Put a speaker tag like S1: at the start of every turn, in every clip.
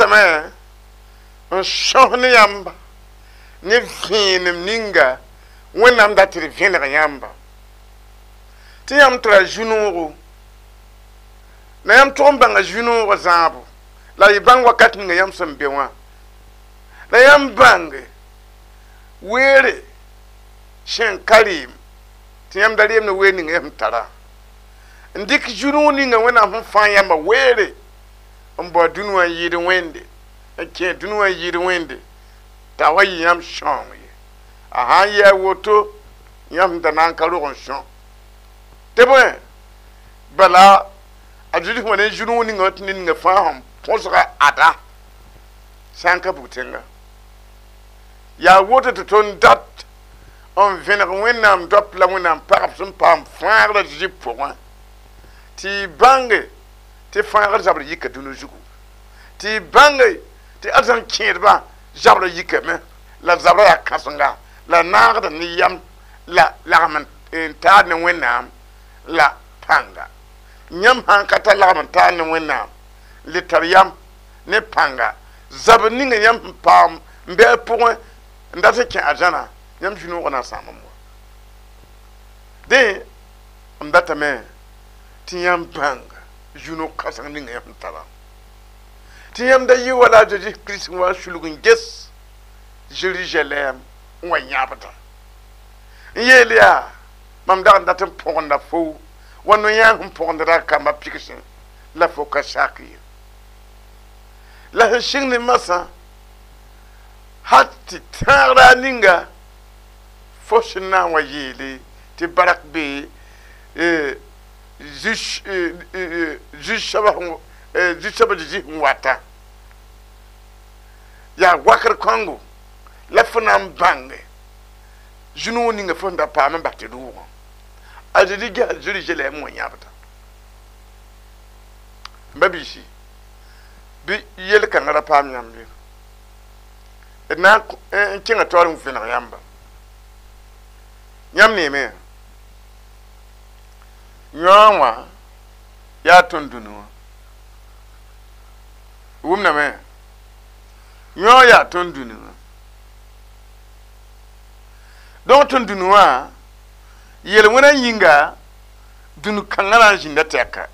S1: Datame n sõs ne yãmba ne vẽenem ninga Wẽnnaam dat tɩ d vẽneg yãmba tɩ yãmb tara zu-noogo la yãmb tʋg n bãnga zu-noogã zãabo la y bãng wakat ninga yãmb sẽn be wã la yãmb bãnge weere sẽn ka rɩɩm tɩ yãmb da reem ne weer ninga yã sẽn tara n dɩk zu-noog ninga Wẽnnaam sẽn fãa yãmba weere n bao dũni wã n yɩɩd wẽnde n kẽ dũni wã n yɩɩd wẽnde t'a wa yɩ yãmb sõong ye a sã n yɩ a woto yãmb da na n ka rog n sõ tɩ bõe bala a Zezi sẽn wa ne zu-noog ninga tɩ ned ninga fãa sẽn põsga ada sã n ka bug tẽnga yaa woto tɩ tõnd dat n vẽneg Wẽnnaam doap la Wẽnnaam pagb sẽn paam fãagrã Zezi pʋgẽ tɩ y bãnge tɩ fãagr zabr yika dũni zugu tɩ y bãnge tɩ arzãn kẽedbã zabrã yikame la zabrã yaa kãsenga la naagda ne yam la lagm n taar ne Wẽnnaam la pãnga yãmb sãn ka tar lagm n taar ne Wẽnnaam le tar yam ne pãnga zabr ninga yãmb sẽn paam n bɩ a pʋgẽ n dat n kẽ arzãna yãmb zu-noogã na n sãam n wa dẽ m datame tɩ yãmb bãnga zu-noog kãseng ninga yãmb sẽn tara tɩ yãmb da yɩ wala a Zeezi Kirist n wa n sulg n ges Zerizalɛɛm n wa yãbda n yeel yaa mam dag n dat n põgenda fo wa no-yãang sẽn põgendra kambã pigsẽ la fo ka sak ye la sẽn sɩng ne masã hal tɩ tãagra ninga fo sẽn na n wa yeele tɩ barak be zu-soabã Zezi sẽn wata yaa wakr kãngo la fo na n bãnge zu-noog ninga fo sẽn da paam n bas tɩ rʋʋgã a Zezi gesa Zerizalɛɛm wã yãbda n ba biisi bɩ yel-kãngã ra paam yãmb ye d na n kẽnga taoor n vẽneg yãmba yãmb neeme yõa wã yaa tõnd dũni wã wʋmdame yõ yaa tõnd dũni wã donc tõnd dũni wã yel-wẽna yĩnga dũni kãngã na n zĩnda tɛka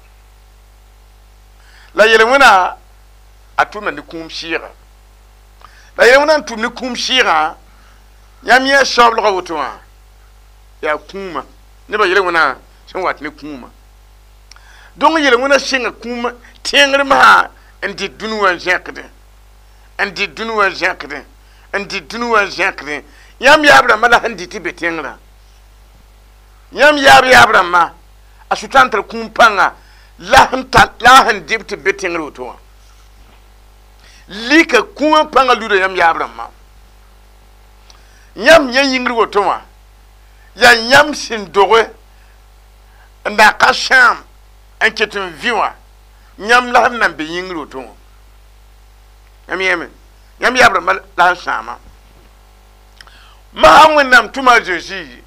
S1: la yel-wẽna a tʋmda ne kũum sɩɩga la yel-wẽna n tʋm ne kũum sɩɩgã yãmb yẽ saoolgã woto wã yaa kũumã nebã yel-wẽna sẽn wat ne kũumã donc yel-wẽna sɩnga kũumã tẽngr masã n dɩt dũni wã n zẽkdẽ n dɩt dũni wã n zẽkdẽ n dɩt dũni wã n zẽkdẽ yãmb yaab rãmbã la sẽn dɩt tɩ be tẽngrã yãmb yaab yaab rãmbã a sʋtãan tar kũum pãnga la sẽn dɩb tɩ be tẽngr woto wã lika kũumã pãngã luda yãmb yaab rãmbã yãmb yẽ yĩngr woto wã yaa yãmb sẽn doge n na ka sãam n ket n vɩ wã yãmb la sẽn nan be yĩngr woto wã yãmb yẽme yãmb yaab rãmbã la sẽn sãama masã Wẽnnaam tʋma a Zezi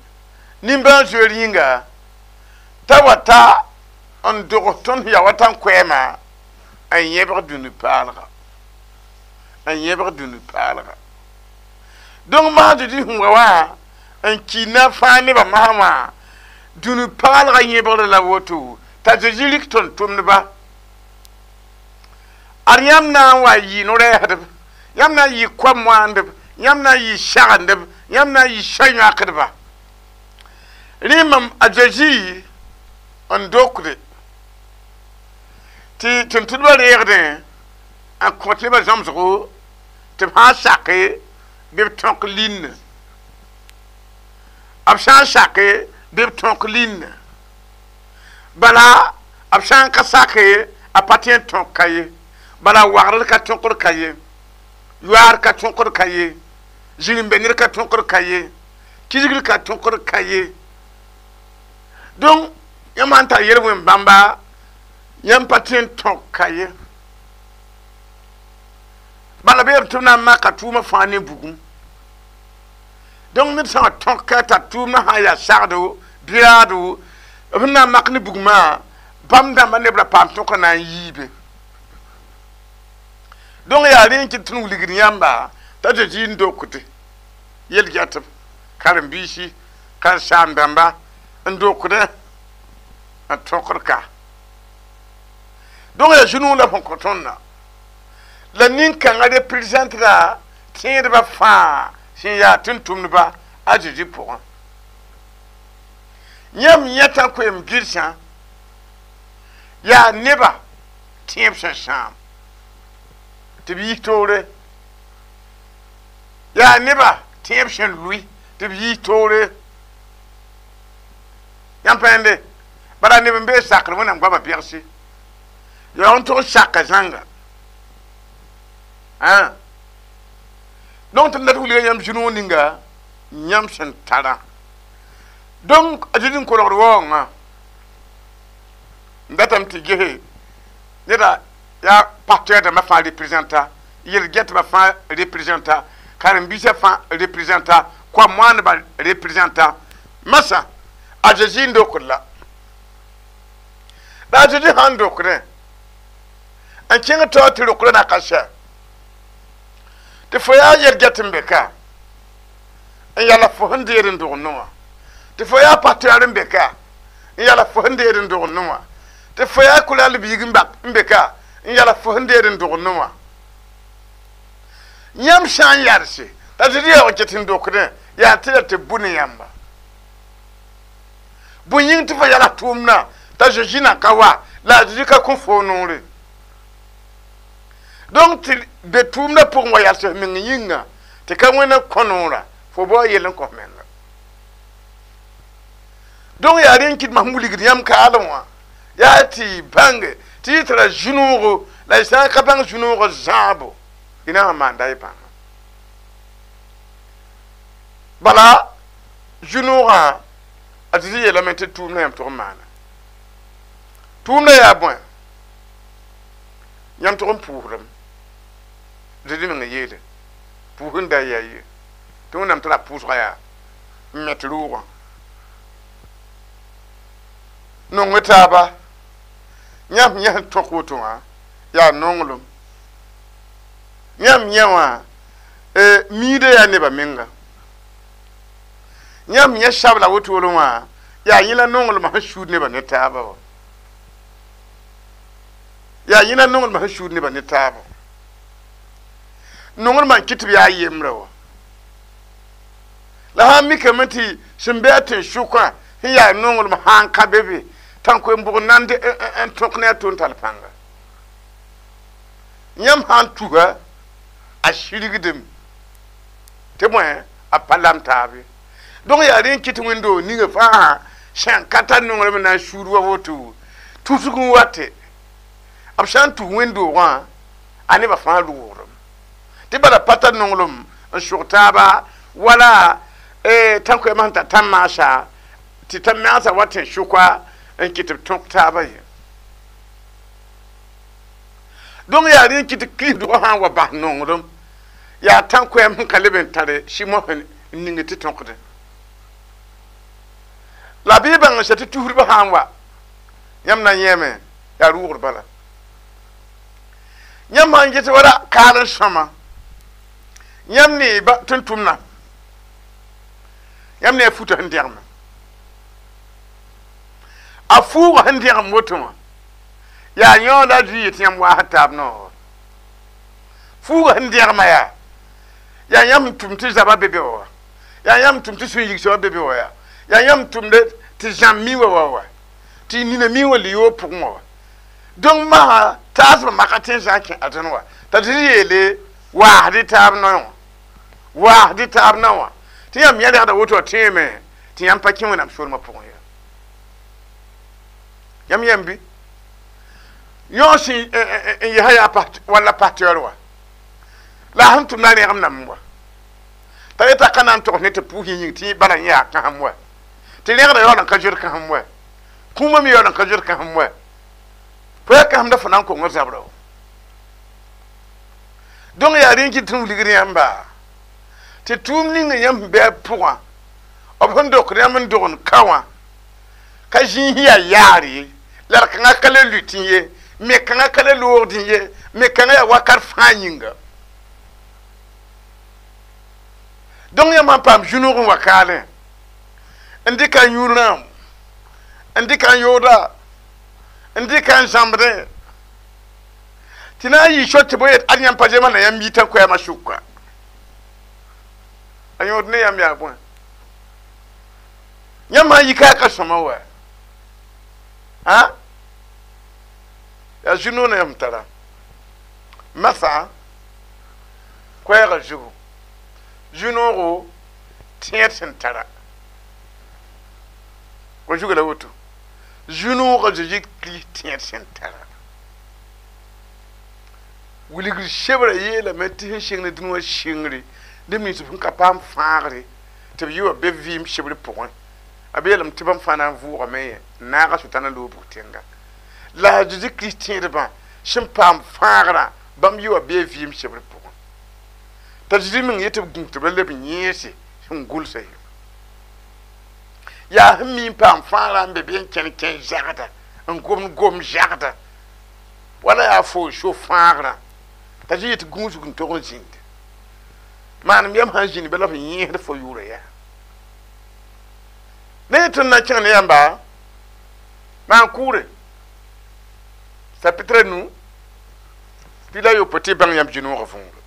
S1: nimbãan-zoeer yĩnga t'a wa ta n dogs tõnd ya wa tã n koɛɛma n yẽbg dũni paalga n yẽbg dũni paalga donc masã Zezi sẽn wa wã n ki na fãa nebã masã wã dũni paalga yẽbgr la woto t'a Zezi rɩk tõnd tʋmdba ad yãmb na n wa yɩ no-rɛɛsdb yãmb na n yɩ koam-moandb yãmb na n yɩ sagendb yãmb na n yɩ sã-yãkdba rẽ mam a Zezi n dokde tɩ tʋm-tʋmdbã reegdẽ n kõt nebã zãmsgo tɩ b sã n sake bɩ b tõk linne b sã n sake bɩ b tõk linne bala b sã n ka sake a pa tõe n tõk ka ye bala wagdr ka tõkd ka ye yoaar ka tõkd ka ye zĩr-n-be ned ka tõkd ka ye kisgr ka tõkd ka ye donc yãmb sãn tar yel-wẽn bãmba yãmb pa tõe n tõk ka ye bala bɩ tɩ b na n maka tʋʋmã fãa ne bugum donc ned sã n tõk ka t'a tʋʋmdã sã n yaa sagdo bɩraado b sẽn na n mak ne bugmã bãmb dãmbã neb ra paam tõka na n yiibe Donc yaa rẽ n kɩt tɩ n wilgd yãmba t'a Zezi n dokde yel-gɛtb karen-biisi karen-saam-dãmba n dokdẽ n tõkd ka. Donc yaa zu-noog la sẽn kõ tõndã la nin-kãngã représentera tẽedbã fãa sẽn yaa tʋm-tʋmdba a Zezi pʋgẽ. Yãmb yẽta koeem gɩrsã yaa neba tẽeb sẽn sãam tɩ b yis toore, yaa neba tẽeb sẽn lʋɩ tɩ b yis toore. Yãmb pãende bala neb n bee sakr Wẽnnaam goamã pegse yaoog n tog saka zãnga. Donc tɩ d dat wilga yãmb zu-noog ninga yãmb sẽn tara. Donc a Zezi n kolgd waoongã n datame tɩ gese neda yaa pasteur dãmbã fãa représenta, yel-gɛtbã fãa représenta, karen-biisã fãa représenta, koam-moandbã représenta. Masã a Zezi n dokd la. La a Zezi sãn dokdẽ n kẽng taoor tɩ rokdã na ka sɛ tɩ fo yaa yel-gɛt n be ka n yala fo sẽn deed n dog no wã, tɩ fo yaa pasteur n be ka n yala fo sẽn deed n dog no wã, tɩ fo yaa kʋlal biig n be ka n yala fo sẽn deed n dog no wã. Yãmb sã n yalse t'a Zezi yaoog n ket n dokdẽ yaa tɩ la tɩ bʋ ne yãmba. Bõe yĩng tɩ fo yala tʋʋmdã t'a Zezi na ka wa la a Zezi ka kõ foo noore. Donc tɩ be tʋʋmdã pʋgẽ wa yals f meng yĩnga tɩ ka wẽna kõ noorã fo bao yell n kõ f menga. Donc yaa rẽ n kɩt masem wilgd yãmb kaalem wã yaa tɩ bãnge tɩ y tara zu-noogo la y sã n ka bãng zu-noogã zãabo y na n maanda y bãnga. Bala zu-noogã a Zezi yeelame tɩ tʋʋmdã yãmb tʋg n maana. Tʋʋmdã yaa bõe? Yãmb tʋg n pʋʋsdame. Zezi meng yeele pʋʋs n da yaa ye tɩ Wẽnnaam tara pʋʋsgã yaa n met rʋʋgã. Nong taaba yãmb yẽ sẽn tõk woto wã yaa nonglem. Yãmb yẽ wã miidã yaa nebã menga. Yãmb yẽ sabla wotoro wã yaa yẽ la nonglmã sẽn suud nebã ne taaba wã. Yaa yẽ la nonglmã sẽn suud nebã ne taaba. Nonglmã n kɩt tɩ b yaa yembrã wã. La sã n mikame tɩ sẽn be a tẽn-sʋkã sẽn yaa nonglem sã n ka be be tãnkoe-bʋg nand n tõk ne a to n tall pãnga. Yãmb sã n tusa a sirgdem tɩ bõe a pa lam taab ye. Donc yaa rẽ n kɩt wẽnd-doog ninga fãa sẽn ka tar nonglem n na n suud wa woto tusg n wate b sã n tus wẽnd-doogã a nebã fãa rʋʋgdem tɩ bala pa tar nonglem n sʋg taaba wala tãnkoɛɛmã sẽn tar tãn-maasa tɩ tãn-maasã wa tẽn-sʋka n kɩt b tõk taabã ye. Donc yaa rẽ n kɩt kiristdgã sã n wa bas nonglem yaa tãnkoɛɛm sẽn ka leb n tare sɩ-mosã n ning tɩ tõkdẽ. La bɩ y bãng n sɛ tɩ tusdbã sã n wa yãmb na n yẽeme yaa rʋʋgd bala. Yãmb sã n get wala kaal n sõma yãmb ne tʋm-tʋmdã yãmb ne a futã sẽn dẽgme. A fuugã sẽn dẽgem woto wã yaa yõod a zui yetɩ yãmb waasd taab noor. Fuugã sẽn dẽgmã yaa yãmb n tʋm tɩ zabã be be wa, yaa yãmb n tʋm tɩ sũ-yigsã be be wa, yaa yãmb n tʋmd tɩ zãmb mi wa wa tɩ nina mi wa li-yoog pʋgẽ wa. Donc masã taasbã maka tẽ sã n kẽ a dẽn wa t'a Zezi yeele waasd-y taab noe wã, waasd-y taab na wã tɩ yãmb yẽ rẽgda woto wã tẽeme tɩ yãmb pa kẽ Wẽnnaam soolmã pʋgẽ ya. Yãmb yãmb bɩ yõ sẽn n yesa yaa walla pasteur wa la a sẽn tʋmda rẽgem name wa t'a yeta ka na n togs ne tɩ pʋʋs yĩng tɩ bala yẽ yaa kãsem wa tɩ rẽgda yaool n ka zoet kãsem wa kũumã me yaool n ka zoet kãsem wa fo yaa kãsemda fo na n kongr zabra wa. Donc yaa rẽ n kɩt tɩ n wilgd yãmba tɩ tʋʋm ning yãmb sẽn be a pʋgã b sẽn dokd yãmb n dogend ka wã ka zĩis yaa yaar ye la d kãngã ka le lʋɩ tɩ ye Me kãngã ka le loogdẽ ye, me kãngã yaa wakat fãa yĩnga. Donc yãmb sãn paam zu-noog n wa kaalẽ n dɩka n yũ rãam, n dɩka n yooda, n dɩka n zãmbdẽ tɩ na n yɩ sor tɩ bo yet ad yãmb pa zemsda na yãmb yitã koɛɛmã sʋka a yõod ne yãmb yaa bõe yãmb sãn yika ka sõma wa a yaa zu-noog na yãmb tara masã koɛɛgã zugu zu-noogo tẽed sẽn tara wa zuga la woto zu-noogã Zeezi Kirist tẽed sẽn tara wilgr sebra yeelame tɩ sẽn sɩng ne dũni wã sɩngre neb nins sẽn ka paam fãagre tɩ b yɩ wa be vɩɩm sebr pʋgẽ a be yeelame tɩ bãmb fãa na n vʋʋgame yẽ n naaga sʋtãna loog bug tẽnga la a Zeezi Kirist tẽedbã sẽn paam fãagrã bãmb yɩ wa bee vɩɩm sebr pʋgẽ t'a Zeezi meng yetɩ b gũus tɩ b ra leb n yẽese sẽn gʋlsa ye yaa sẽn mi n paam fãagrã n be bɩ n kẽn kẽ zagda n gomd gom zagda wala yaa fo so fãagrã t'a Zeezi yetɩ gũusg n tog n zĩnd maanem yam sãn zĩnd bala f yẽesd fo yʋʋra yaa ne yetɩ n na kẽng ne yãmba maan kʋʋre chapitre nu tɩ la yopoe tɩ y bãng yãmb zu-noogã võore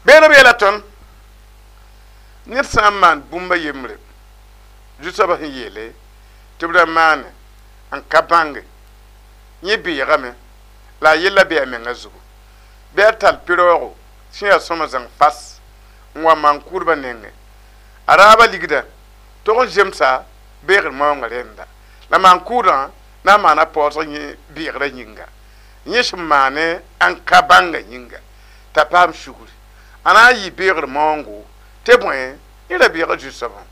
S1: beene b yeela tõnd ned sã n maan bũmb a yembre zu-soabã sẽn yeele tɩ b ra maane n ka bãnge yẽ beegame la a yella bee a menga zugu bɩ a tall pɩraoogo sẽn yaa sõma zãng fas n wa maan-kʋʋdbã nengẽ a raabã ligda tog n zemsa beegr maoongã rẽnda la maan-kʋʋdã na n maana paoosg yẽ beegrã yĩnga yẽ sẽn maane n ka bãnga yĩnga t'a paam sugri a na n yɩ beegr maoongo tɩ bõe yẽ ra beega zu-soabã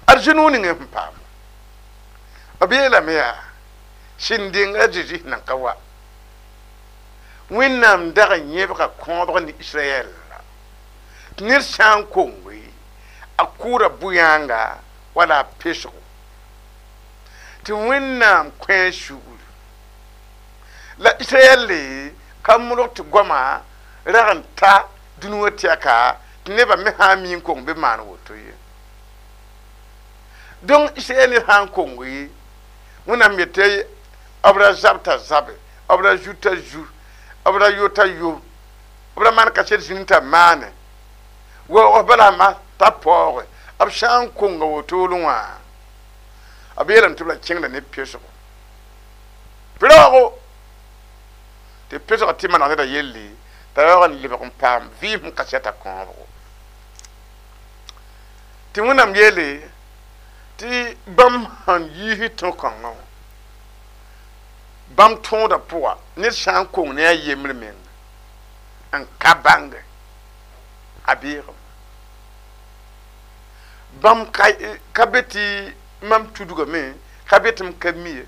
S1: ad zu-noog ning sẽn paam b yeelame yaa sẽn denga Zeezi sẽn nan ka wa Wẽnnaam dag n yẽbga kõobg ne Israɛl tɩ ned sã n konge a kʋʋda bʋ-yãanga wala a pesgo tɩ Wẽnnaam kõ a sugri la Israɛl ka modg tɩ goama rag n ta dũni wã tɛka tɩ nebã me sã n mi n kong bɩ maan woto ye donc Israɛl ned sã n konge Wẽnnaam yetɩ b ra zab t'a zabe b ra zu t'a zu b ra yo t'a yo b ra maan kaset zĩnd t'a maane waoog bala ma t'a paooge b sã n konga wotolẽ wã b yeelame tɩ b ra kẽngda ne pesgo pɩraoogo tɩ pesgã tɩ maneg neda yelle t'a yaoog n lebg n paam vɩɩm sẽn kasɛta kõobgo tɩ Wẽnnaam yeele tɩ bãmb sãn yiis tõ-kãngã wã bãmb tõoda pʋga ned sã n kong ne a yembr meng n ka bãnge a beegem bãmb ka be tɩ mam tudgame ka be tɩ m ka mi ye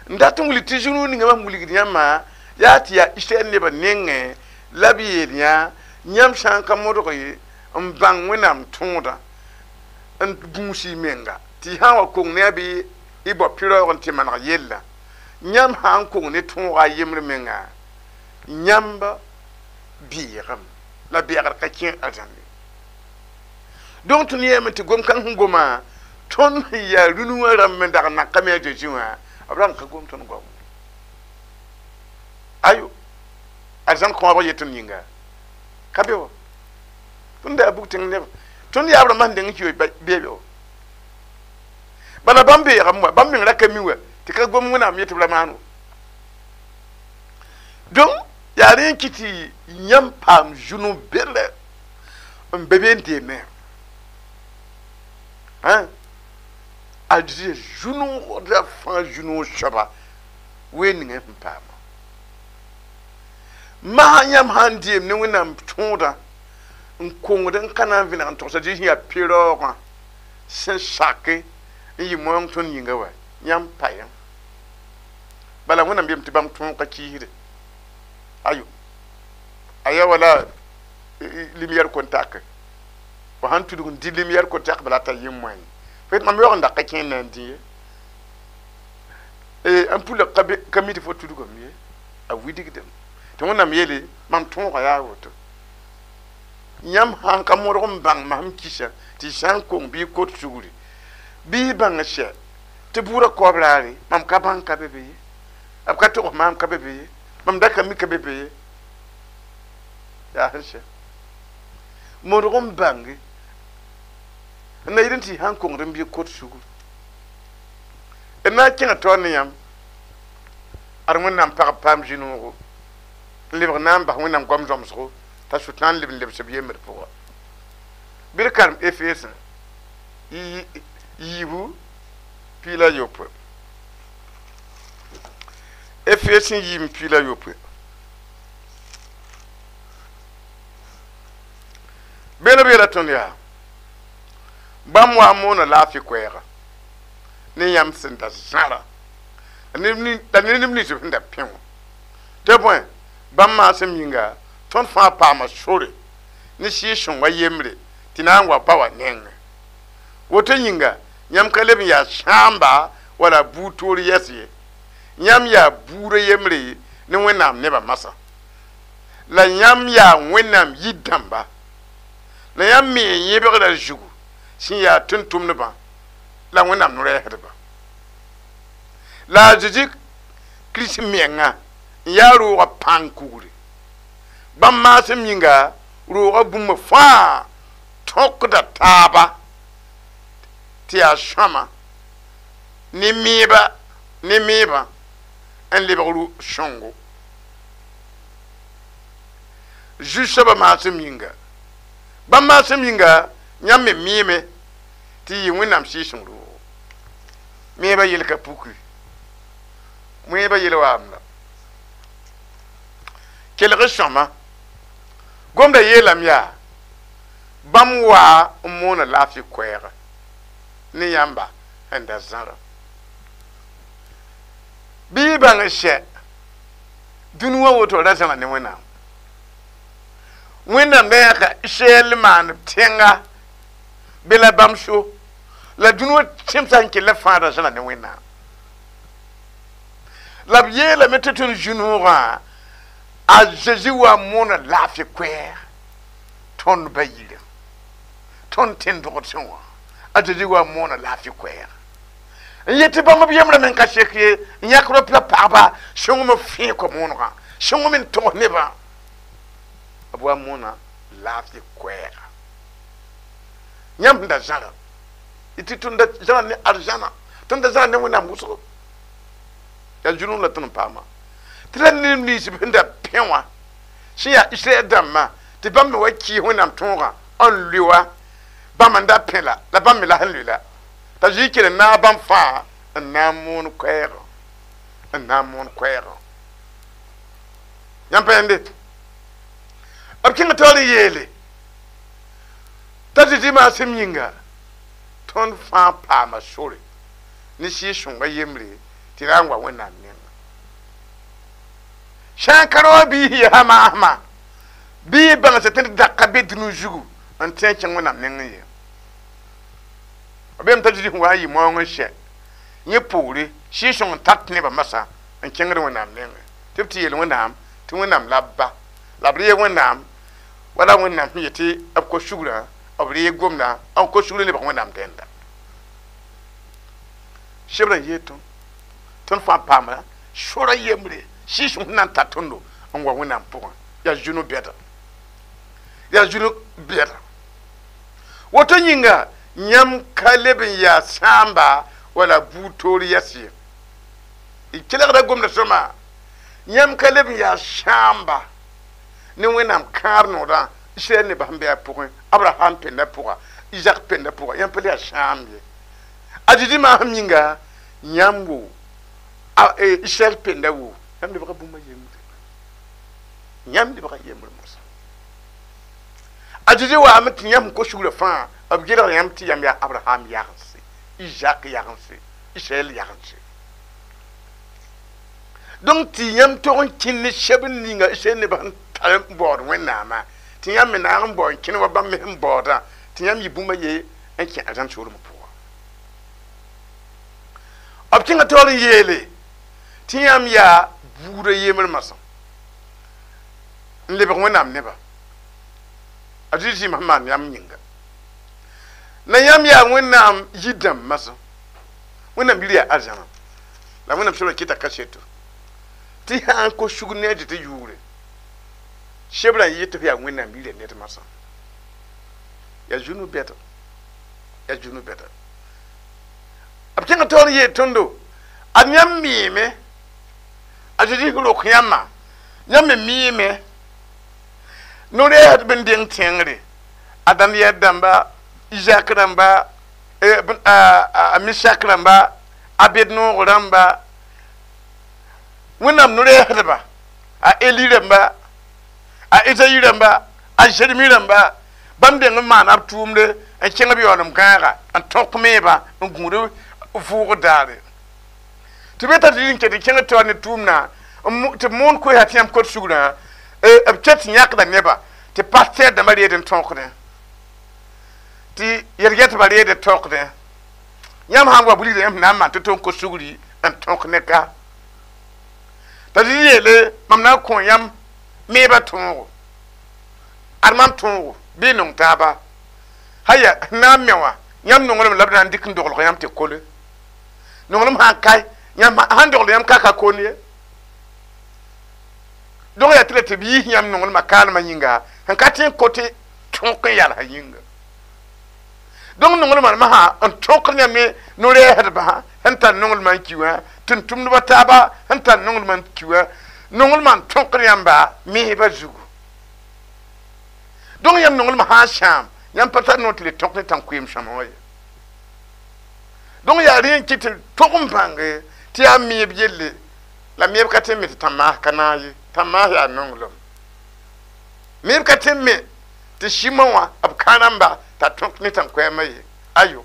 S1: n dat n wilg tɩ zu-noog ninga mam wilgd yãmba yaa tɩ yaa Israɛl nebã nengẽ la b yeel yã yãmb sã n ka modg ye n bãng Wẽnnaam tõodã n gũus y menga tɩ y sã n wa kong ne a bɩ y bao pɩraoog n tɩ maneg yella yãmb sã n kong ne tõoga a yembr menga yãmb beegem la beegr ka kẽ arzãnde donc tõnd yeelame tɩ gom-kãng sẽn goma tõnd sẽn yaa rũnu wã rãmb n dag n nakame a Zeezi wã b rag n ka gom tõnd goam ayo arzãn kõobg yet tõnd yĩnga ka be wa tõnd yaa bug tẽng neb tõnd yaab rãmbã sẽn deng n ki beebe wa bala bãmb beegame wa bãmb meng ra ka mi wa tɩ ka gom Wẽnnaam yetɩ b ra maan wa donc yaa rẽ n kɩ tɩ yãmb paam zu-noog berlɛ n be be n deemẽ a zu-noogda fãa zu-noog soaba ween ninga sẽn paama masã yãmb sã n deem ne Wẽnnaam tõodã n kongd n ka na n vẽneg n togsa Zeezi sẽn yaa pɩraoogã sẽn sake n yɩ moong tõnd yĩnga wa yãmb pa yã bala Wẽnnaam yeelame tɩ bãmb tõog ka kiisde ayo a yaa wala lumière contact fo sãn tudg n dɩ lumière contact bala t'a yẽ moẽ fo yet mam yaoog n dak ka kẽer na n dĩ ye N pula ka mi tɩ fo tudgame ye a widgdame tɩ wẽnnaam yeele mam tõoga yaa woto yãmb sãn ka modg n bãng masem kisa tɩ sã n kong bɩ y kot sugri bɩ y bãng sɛ tɩ bʋʋda kaoob raare mam ka bãng ka be be ye b ka togs maam ka be be ye mam da ka mi ka be be ye yaa sẽn sɛ modg n bãnge n na yɩl n tɩ y sãn kongd n bɩ kot sugr d na n kẽngã taoor ne yãmb ad wẽnnaam pagb paam zĩ-noogo n lebg na n bas wẽnnaam goam zãmsgo t'a sʋtãan n leb n lebs b yembd pʋga bɩ d karem Efesẽ yiibu piig la yopoe Efesẽ yiib piig la yopoe beela b yeela tõnd yaa bãmb wa n moona laafɩ koɛɛga ne yãmb sẽn da zãra la ne neb nins b sẽn da pẽ wã tɩ bõe bãmb maasem yĩnga tõnd fãa paama sore ne sɩɩg-sõngã yembre tɩ na n wa pa wa nengẽ woto yĩnga yãmb ka leb n yaa sãamba wala buud toor yɛs ye yãmb yaa buudã yembre ne wẽnnaam nebã masã la yãmb yaa wẽnnaam yir-dãmba la yãmb me n yẽbgra zugu sẽn yaa tʋm-tʋmdbã la wẽnnaam no-rɛɛsdba la a Zezi Kirist menga n yaa roogã pãng kugre bãmb maasem yĩnga roogã bũmb fãa tõkda taaba tɩ yaa sõama ne meebã n lebg sõngo zu-soabã maasem yĩnga bãmb maasem yĩnga yãmb me miime tɩ yɩ wẽnnaam sɩɩg-sõng roogo meebã yel ka puki meebã yel waam la kelg sõma gomda yeelame yaa bãmb waa n moona laafɩ koɛɛga ne yãmba sẽn da zãra bɩ y bãng n sɛ dũni wã woto ra zãra ne wẽnnaam wẽnnaam da yãka Israɛl maan tẽnga be la bãmb so la dũni wã tẽmsã n kell fãa ra zãra ne wẽnnaam la b yeelame tɩ tõnd zu-noogã a Zezi wa n moona laafɩ koɛɛg tõnd ba yirã tõnd tẽn-dogdsẽ wã a Zezi wa n moona laafɩ koɛɛg n yet tɩ bãmb b yembrã me n ka sek ye n yãk rop la pagba sõngem fẽe ko-moonegã sõngem n togs nebã b wa n moona laafɩ koɛɛga yãmb sẽn da zãra tɩ tõnd da zãra ne arzãna tõnd da zãra ne wẽnnaam wʋsgo yaa zu-noog la tõnd n paama tɩ la neb nins b sẽn da pẽ wã sẽn yaa Israɛl dãmbã tɩ bãmb me wa kɩɩs wẽnnaam tõogã n lʋ wa bãmb n da pẽ la la bãmb me la sẽn lʋ la t'a Zezi kell n naag bãmb fãa n na n moon koɛɛgã n na n moon koɛɛgã yãmb pa yãnde b kẽng taoor n yeele t'a Zezi maasem yĩnga tõnd fãa paama sore ne sɩɩg-sõngã yembre tɩ ra n wa wẽnnaam nengã sã n ka ra wa biis yaa maasmã bɩ y bãng tɩ d da ka be dũni zugu n tẽ n kẽng wẽnnaam nengẽ ye b beem t'a Zezi sẽn wa n yɩ maoong n sɛ yẽ poore sɩɩg-sõng n tat nebã masã n kẽngd wẽnnaam nengẽ tɩ b tɩ yeel wẽnnaam tɩ wẽnnaam la b ba la b reeg wẽnnaam wala wẽnnaam sẽn yetɩ b ko sugrã b reeg gomdã n ko sugr n lebg wẽnnaam dẽnda sebrã n yeel tõnd tõnd fãa paama sora yembre sɩɩg-sõng sẽn na n tar tõndo n wa wẽnnaam pʋgẽ yaa zu-no bɛda yaa zu-no bɛda woto yĩnga yãmb ka leb n yaa sãamba wala buud toor yɛs ye y kelgda gomda sõma yãmb ka leb n yaa sãamba ne wẽnnaam kãab noodã Israɛl nebã sẽn be a pʋgẽ Abraham pẽnda pʋga Isaac pẽnda pʋga yãmb pa le yaa sãamb ye a Zezi maasem yĩnga yãmb wo Israɛl pẽnda wo yãmb lebga bũmba yembre yãmb lebga yembre moasã a Zezi waame tɩ yãmb sẽn ko sugrã fãa b gelg yãmb tɩ yãmb yaa Abraham yagense Isaac yagense Israɛl yagense donc tɩ yãmb tog n kẽnd ne sɛb n ninga Israɛl nebã sẽn tar n baood wẽnnaamã tɩ yãmb me naag n bao n kẽnd wa bãmb me sẽn baoodã tɩ yãmb yɩ bũmba ye n kẽ arzãn soolmã pʋga b kẽnga taoor n yeele Tɩ yãmb yaa buudã yembr masã n lebg Wẽnnaam neba a Zezi sẽn maan yãmb yĩnga la yãmb yaa Wẽnnaam yir-dãmb masã Wẽnnaam yir yaa arzãna la Wẽnnaam soabã kɩta kaseto tɩ sã n kos sugr ne a tɩ yʋʋre sebrã n yet tɩ f yaa Wẽnnaam yirã ned masã yaa zu no-bɛda yaa zu no-bɛda b kẽnga taoor n yeel tõndo ad yãmb miime a Zezi sẽn rok yãmbã yãmb me miime no-rɛɛsd b n deng tẽngre a Daniel dãmba Isaac rãmba a Misak rãmba Abednoog rãmba Wẽnnaam no-rɛɛsdba a Eli rãmba a Ezayi rãmba a Jeremi rãmba bãmb deng n maana b tʋʋmde n kẽng b yaoolem gãaga n tõk meebã n gũud vʋʋgr daare tɩ be t'a tɩ n ket n kẽng taoor ne tʋʋmdã tɩ b moon koɛɛsã tɩ yãmb kot sugrã b ket tɩ yãkda neba tɩ pastɛɛr dãmbã reed n tõkdẽ tɩ yɛl-gɛtbã reed n tõkdẽ yãmb sã n wa wilgda yãmb sẽn na n maan tɩ tɩ n kos sugri n tõk ne ka t'a zĩ yeele mam na n kõ yãmb meebã tõogo ad mam tõogo bɩ y nong taaba haya sẽn na n me wã yãmb nonglem la b na n dɩk n doglg yãmb tɩ kole nonglem sã n kae yãmb sãn dogl yãmb ka ka koond ye donc yaa tɩ la tɩ b yiis yãmb nonglmã kaalmã yĩnga sẽn ka tɩ n kot tõk n yalsã yĩnga donc nonglmã masã n tõkd yãmb ne no-rɛɛsdbã sẽn tar nonglmã n ki wã tʋm-tʋmdbã taaba sẽn tar nonglmã n ki wã nonglmã n tõkd yãmba meebã zugu donc yãmb nonglmã sã n sãam yãmb pa tar noor tɩ le tõk ne tãn-koeem sõma wã ye donc yaa rẽ n kɩ tɩ tog n bãnge tɩ yaa meeb yelle la meeb ka tɩ n me tɩ tãn-maas ka naag ye tãn-maas yaa nonglem meeb ka tɩ n me tɩ sɩmã wã b kã-rãmba t'a tõk ne tãn-koɛɛmã ye ayo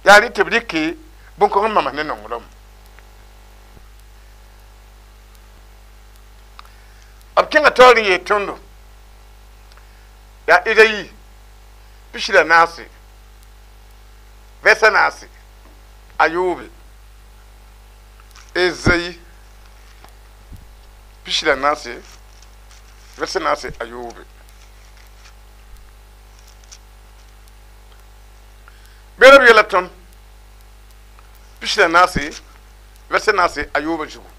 S1: yaa rẽ tɩ b rɩke bõn-kõng n mamas ne nonglem b kẽnga taoor n yeel tõndo yaa Ezayi 44 verset 4 ayoobe Ezayi 44 verset 4 ayoobe bera b yeela tõnd 44 verset 4 ayoobe zugu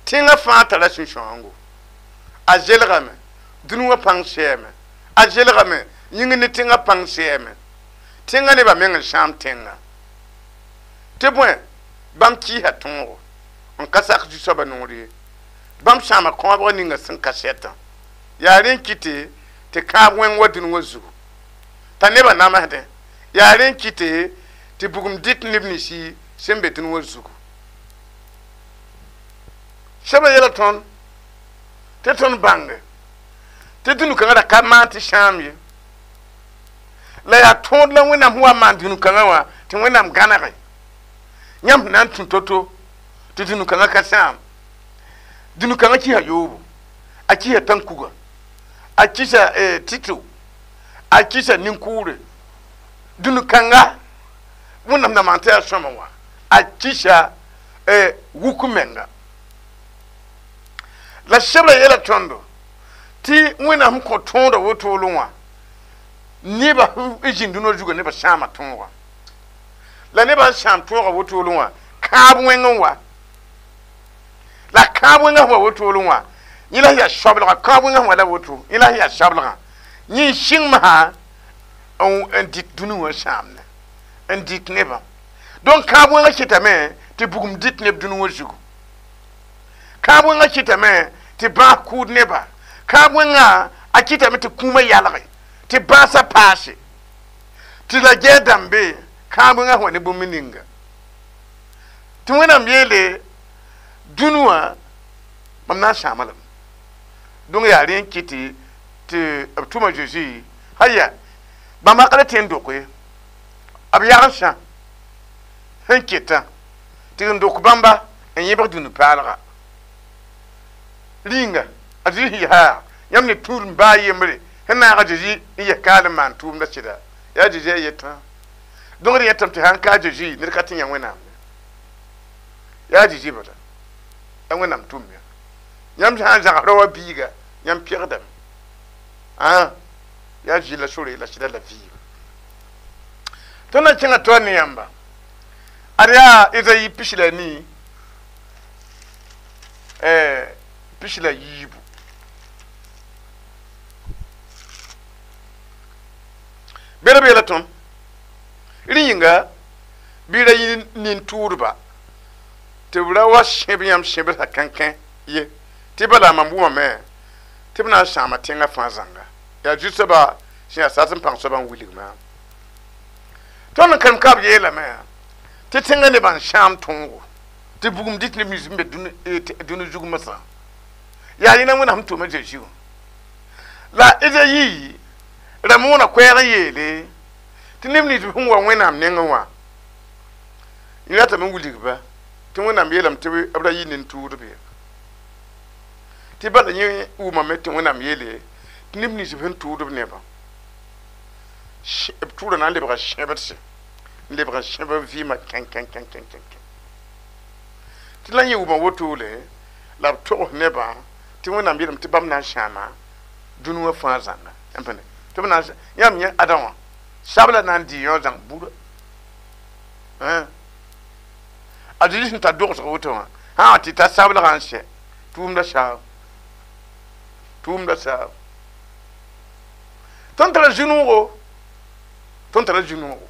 S1: tẽngã fãa tara sũ-sãoongo a zelgame dũni wã pãng sɛɛme a zelgame yĩng ne tẽngã pãng sɛɛme tẽngã nebã meng n sãam tẽngã tɩ bõe bãmb kɩɩsa tõogo n ka sak zu-soabã noor ye bãmb sãama kãobg ninga sẽn ka sɛtã yaa rẽ n kɩte tɩ kãab wẽng wa dũni wã zugu t'a nebã namsdẽ yaa rẽ n kɩte tɩ bugum dɩt neb ninsi sẽn be dũni wã zugu sebra yɛla tõnd tɩ tõnd bãnge tɩ dũni-kãngã ra ka maan tɩ sãam ye la yaa tõod la Wẽnnaam sẽn wa n maan dũni-kãngã wã tɩ Wẽnnaam gãnege yãmb sẽn na n tũ to-to tɩ dũni-kãngã ka sãam dũni-kãngã kɩsa yoobo a kɩsa tãn-kuga a kɩsa tɩto a kɩsa nin-kʋʋre dũni-kãnga Wẽnnaam na maan tɩ yaa sõma wã a kɩsa wuk menga la sebra yeela tõndo tɩ Wẽnnaam sẽn kõ tõodã wotolẽ wã neba n zĩnd dũnã zugã nebã sãama tõoga la nebã n sãam tõoga wotolẽ wã kãab wẽng n wa la kãab wẽngã sẽn wa wotolẽ wã yẽ la sẽn yaa soablga kãab wẽngã sẽn wa la woto yẽ la sẽn yaa soablgã yẽ n sɩng masã n dɩt dũni wã sãamne n dɩt nebã donc kãab wẽngã kɩtame tɩ bugum dɩt neb dũni wã zugu kãab wẽngã kɩtame tɩ bãas kʋʋd neba kãab wẽngã a kɩtame tɩ kũumã yalge tɩ bãasã paase tɩ la gɛɛ dãmbe kãab wẽngã sẽn wa ne bũmb ninga tɩ Wẽnnaam yeele dũni wã mam na n sãama lame donc yaa rẽ n kɩ tɩ b tʋma Zeezi haya bãmb ka la tẽ n dok ye b yagsã sẽn ketã tɩ n dok bãmba n yẽbg dũni paalga rĩnga a Zezi sẽn yaa yãmb ne tũud n baa yembre sẽn naag a Zezi n yes kaal n maan tʋʋmdã sɩda yaa Zezi a yetã donc d yẽtame tɩ sãn ka a Zezi ned ka tɩ yã Wẽnnaam ye Yaa Zezi bala la Wẽnnaam tʋm ya yãmb sã n zãgs raoã biiga yãmb pegdame yaa Zezi la sore la sɩda la vɩɩm tõnd na kẽngã taoor ne yãmba ad yaa Ezayi 14 14 bera bela tõnd rẽ yĩnga bɩ ra yɩ nin-tʋʋdba tɩ b ra wa sẽb yãmb sẽbsã kãnkẽ ye tɩ bala mam wʋmame tɩ b na n sãama tẽngã fãa zãnga yaa zu-soaba sẽn yaa sat n pãng soabã n wilg maam tõnd n karem ka b yeelame tɩ tẽngã nebã n sãam tõogo tɩ bugum dɩt neb nins n be dũni zug masã yaa yẽna Wẽnnaam tʋma Zezi wã la Ezayi ra moona koɛɛg n yeele tɩ neb nins sẽn wa Wẽnnaam nengẽ wã yẽ ratame n wilg-ba tɩ Wẽnnaam yeelame tɩ b ra yɩ nin-tʋʋdb ye tɩ bala yẽ wʋmame tɩ Wẽnnaam yeele tɩ neb nins sẽn tʋʋd b nebã b tʋʋra na n lebga sẽbdse n lebg n sẽb b vɩɩmã kẽn kẽn kẽn kẽn kẽn tɩ la yẽ wʋma wotole la b togs nebã tɩ Wẽnnaam yeelame tɩ bãmb na n sãama dũni wã fãa zãnga tɩ b na n yãmb yẽ Adã wã sabla na n dɩ yõ zãng bura a Zezi sẽn tar dogsg woto wã sã tɩ ta sablgã n sɛ tʋʋmda saab tʋʋmda saab tõnd tara zu-noogo tõnd tara zu-noogo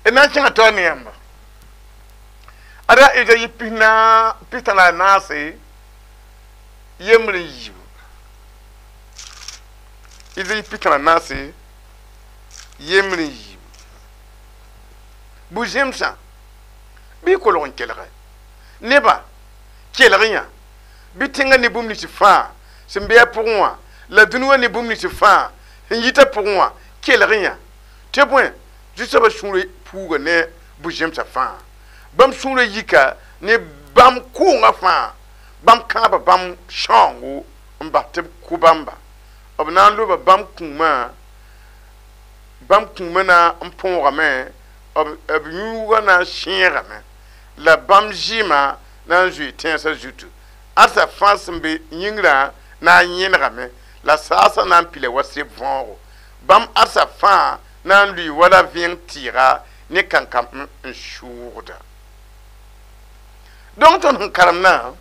S1: d na n kẽngã taoor ne yãmba ad yaa Ezayi 44 3 Ezayi 44 3 bu-zẽmsã bɩ y kolg n kelge nebã kelg yã bɩ tẽngã ne bũmb nins fãa sẽn be a pʋgẽ wã la dũni wã ne bũmb nins fãa sẽn yita pʋgẽ wã kelg yã tɩ bõe zu-soabã sũurã puuga ne bu-zẽmsã fãa bãmb sũurã yika ne bãmb kʋʋngã fãa bãmb kãaba bãmb sãoongo n bas tɩ b kʋ bãmba b na n loba bãmb kũumã na n põogame b yũugã na n sẽegame la bãmb zɩɩmã na n zoe tẽnsã zutu ãdsa fãa sẽn be yĩngrã na n yẽnegame la saasã na n pila wa seb võogo bãmb ãdsa fãa na n lʋɩ wala vẽeng tɩɩga ne kankam n sʋʋgda donc tõnd sẽn karemdã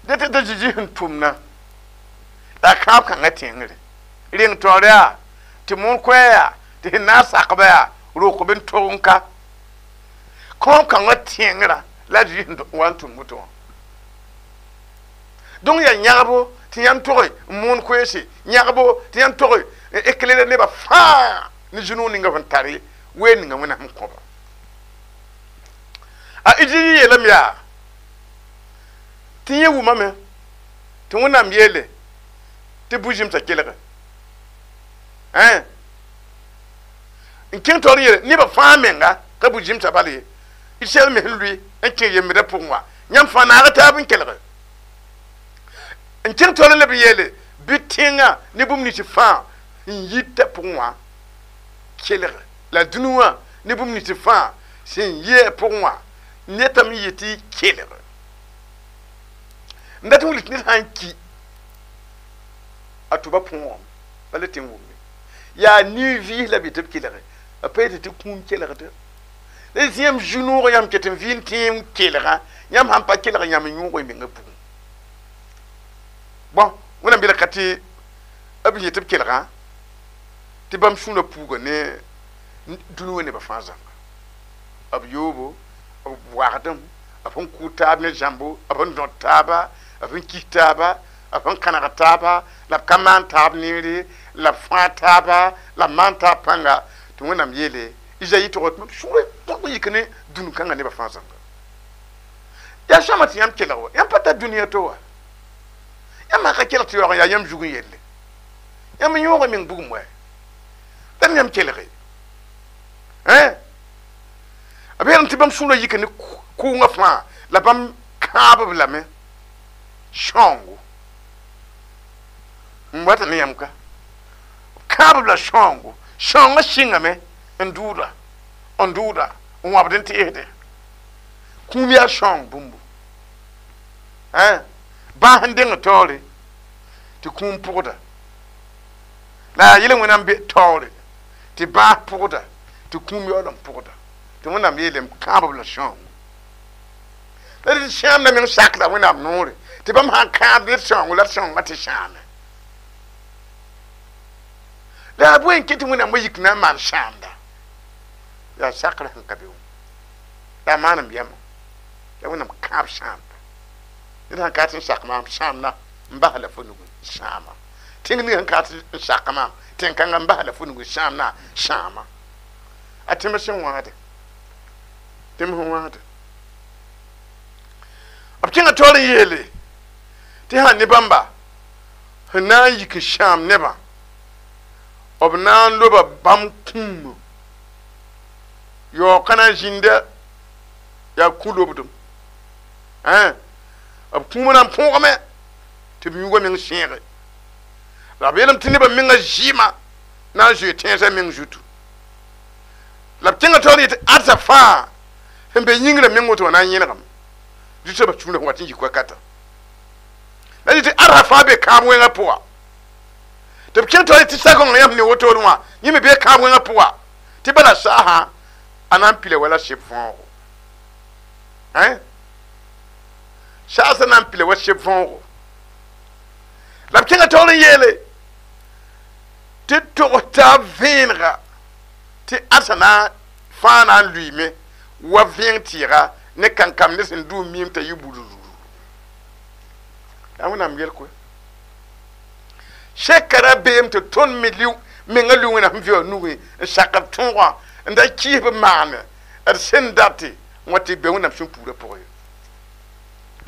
S1: dẽ tɩ t'a Zezi sẽn tʋmna la kãab kãngã tẽngre reng taoor yaa tɩ moon koɛɛ yaa tɩ sẽn na n sakba yaa rok b n tog n ka kõom kãngã tẽngrã la a Zezi sẽn wa n tʋm woto wã donc yaa yãgbo tɩ yãmb toge n moon koeese yãgbo tɩ yãmb toge n éclairer nebã fãa ne zu-noog ninga sẽn tare ween ninga Wẽnnaam sẽn kõba a Ezayi yeelame yaa tɩ yẽ wʋmame tɩ Wẽnnaam yeele tɩ bu-zẽmsã kelge n kẽng taoor n yeele nebã fãa menga ka bu-zẽmsã bal ye Israɛl me sẽn lʋɩ n kẽ yembdã pʋgẽ wã yãmb fãa naaga taab n kelge n kẽng taoor n leb n yeele bɩ tẽngã ne bũmb nins fãa n yita pʋgẽ wã kelg la dũni wã ne bũmb nins fãa sẽn yɩ a pʋgẽ wã netame yetɩ kelg n dat n wilg tɩ ned sã n ki a tʋba põogame bala tɩ n wʋmme yaa nin-vɩɩs la b yetɩ b kelge a pa yetɩ tɩ kũum kelgda la tɩ yãmb zu-noogã yãmb ket n vɩ n tẽem kelgã yãmb sãn pa kelg yãmb n yõog y menga bugum bõn Wẽnnaam beela ka tɩ b yetɩ b kelgã tɩ bãmb sũurã puuga ne dũni wã nebã fãa zãnga b yoobo b wagdem b sẽn kʋʋ taab ne zãmbo b sẽn dõt taaba b sẽn kis taaba b sẽn kãneg taaba la b ka maan taab neere la b fãa taaba la b maan taab pãnga tɩ Wẽnnaam yeele Ezayi tʋg tɩ mam sũurã tõg n yik ne dũni kãngã nebã fãa zãnga yaa sõama tɩ yãmb kelg wa yãmb pa tar dũniyã to wa yãmb sã ka kelg tɩ yaoog n yaa yãmb zug n yelle yãmb n yõog y meng bugum wa tɩ yãmb kelge b yeelame tɩ bãmb sũurã yika ne kʋʋngã fãa la bãmb kãab b lame sãoongo n wata ne yãmb ka kãab b la sãoongo sãoongã sɩngame n dʋʋda n wãbd n teesdẽ Kũum yaa sõng bũmbu bãas n deng taoore tɩ kũum pʋgda la yaa yel wẽnnaam be taoore tɩ bãas pʋgda tɩ kũum yaool n pʋgda tɩ wẽnnaam yeelame kãab b la sõngo la d sãamda meng sakda wẽnnaam noore tɩ bãmb sãn kãab d sõngo la d sõngã tɩ sãame la yaa bõe n ket tɩ wẽnnaam wa yik na n maan sãamda yaa sakrã sẽn ka be wã la a maanem yɛmã la wẽnnaam kãab sãamda ned sãn ka tɩ n sak maam sãamda n bas la fo nug sãama tẽng ning sẽn ka tɩ n sak maam tẽn-kãngã n bas la fo nug sãamda sãama a tẽms sẽn wãade tẽms sẽn wãade b kẽngã taoor n yeele tɩ sãn ne bãmba sẽn na n yik n sãam nebã b na n loba bãmb kũumã yaoog ka na n zĩnda yaa kũ-lobdem b kũumã na n põogame tɩ b yũugã meng sẽege la b yeelame tɩ nebã mengã zɩɩmã na n zoe tẽnsã meng zutu la b kẽngã taoor n yetɩ ãdsa fãa sẽn be yĩngrã meng woto wã na n yẽlgame zu-soabã sũurã sẽn wat n yik wakata la tɩ ãdsa fãa be kãab wẽngã pʋga tɩ b kẽng taoor tɩ sagõngã yãmb ne wotone wã yẽ me bee kãab wẽngã pʋga tɩ bala saasã a na n pila wala seb võogo saasã na n pila wa seb võogo la b kẽngã taoor n yeele tɩ togs taab vẽenega tɩ ãdsa na fãa na n lʋɩɩme wa vẽeng tɩɩga ne kankam ne sẽn dʋ miim t'a yɩ burururu yaa wẽnnaam yel koe sɛka ra beem tɩ tõnd me menga lʋ wẽnnaam sẽn vɩ wã nugẽ n sak b tõogã n da kɩɩs b maane d sẽn date n wa tɩ be wẽnnaam sẽn puurã pʋgẽ ye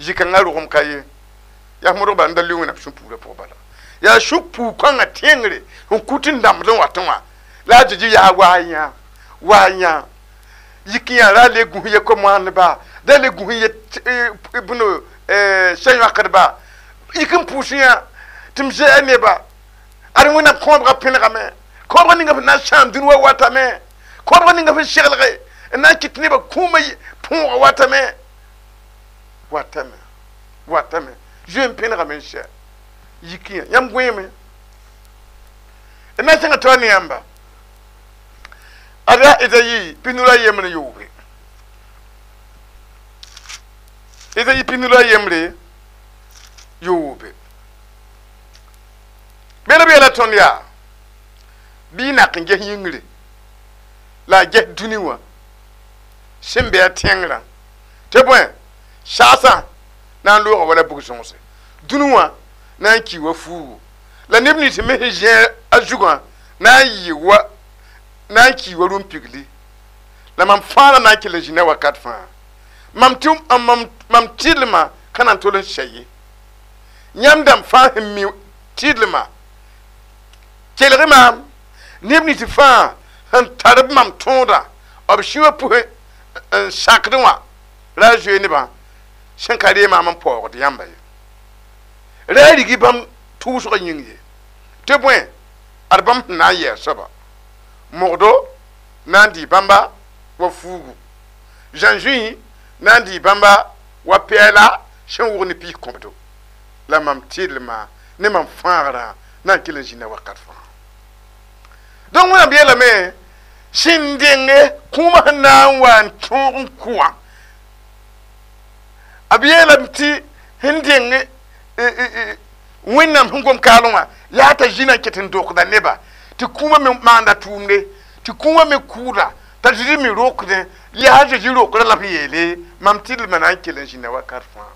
S1: zĩ-kãngã rogem ka ye yaa modg bala n da lʋ wẽnnaam sẽn puurã pʋgẽ bala yaa sũ puu-kãngã tẽngre n kut n dãmbd n watẽ wã la a Zeezi yaa waa yã waa yã yik yã ra le gũs ye ko-moandba da le gũs ye bõn sã-yõkdba yik n pʋʋs yã tɩ m zɛɛ neba ad wẽnnaam kõobgã pẽnegame kõobgã ninga sẽn na n sãam dũni wa watame kõobgã ninga sẽn seglge n na n kɩt nebã kũumã põoga watame watame watame zoe n pẽnegame n sɛ yik yã yãmb gõeeme d na n sẽnga taoor ne yãmba ad yaa Ezayi 53 Ezayi 53 bẽd b yeela tõnd yaa bɩ y nak n ges yĩngre la a ges dũni wã sẽn be a tẽngrã tɩ bõe saasã na n looga wala bug-sõgse dũni wã na n ki wa fuugu la neb nins me sẽn zẽe a zugã na n yɩ wa na n ki wa rũm-pigli la mam fãa na n kell n zĩnda wakat fãa mam tɩdlmã ka na n tol n sɛ ye yãmb dãmb fãa sẽn mi tɩdlmã kelg maam neb nins fãa sẽn tar b mam tõoda b sũyã pʋsẽ n sakdẽ wã ra a zoe nebã sẽn ka ree maam n paoogd yãmba ye ra a rigi bãmb tʋʋsgã yĩng ye tɩ bõe ad bãmb sẽn na n yɛɛ soaba mogdo na n dɩ bãmba wa fuugu zãnzũy na n dɩ bãmba wa pɛɛla sẽn wʋg ne piis kõbdo la mam tɩdlmã ne mam fãagrã na n kell n zĩnda wakat fãa donc wẽnnaam yeelame sẽn denge kũumã sẽn na n wa n tõog n kʋ wã b yeelame tɩ sẽn deng wẽnnaam sẽn gom kaalẽ wã yaa t'a zĩna n ket n dokda neba tɩ kũumã me maanda tʋʋmde tɩ kũumã me kʋʋda t'a Zezi me rokdẽ yaa Zezi rokrã la b yeele mam tɩdlmã na n kell n zĩnda wakat fãa